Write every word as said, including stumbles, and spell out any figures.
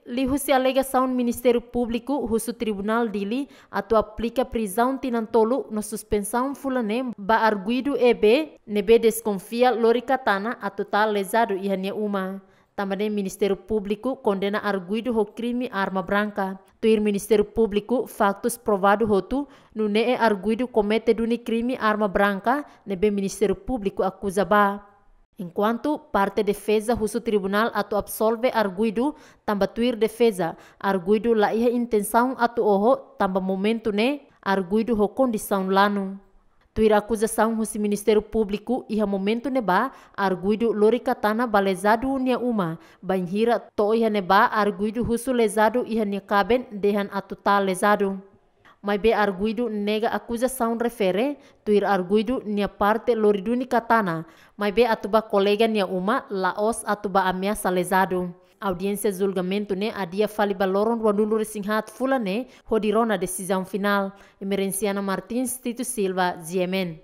Liuhusi alegasaun Ministériu Públiku husu Tribunál Dili atu aplika prizaun tinan tolu no suspensaun fulan neen ba arguidu E B ne'ebé deskonfia Lori Katana atu tala lezadu iha nia uma. Tanba ne'e Ministériu Públiku kondena arguidu ho krime arma branka. Tuir Ministériu Públiku, faktus provadu hotu, nune'e arguidu komete duni krime arma branka ne'ebé Ministériu Públiku akuza ba. Enkuantu parte defeza husu tribunál atu absolve arguidu, tanba tuir defeza, arguidu la iha intensaun atu oho, tanba momentu ne'e arguidu ho kondisaun lanu. Tuir akuzasaun husi Ministériu Públiku, iha momentu ne'ebá arguidu Lori Katana ba lezadu nia uma, bainhira to'o iha ne'ebá arguidu husu lezadu iha nia kaben dehan atu tala lezadu. Maibé arguidu nega akuzasaun refere, tuir arguidu nia parte lori duni Katana, maibé atu ba kolega nia uma, la'ós atu ba ameasa lezadu. Audiénsia julgamentu ne'e adia fali ba loron ruanulu-resin-haat fulan ne'e, hodi rona desizaun finál. Emerenciana Martins, Tito Silva, G M N.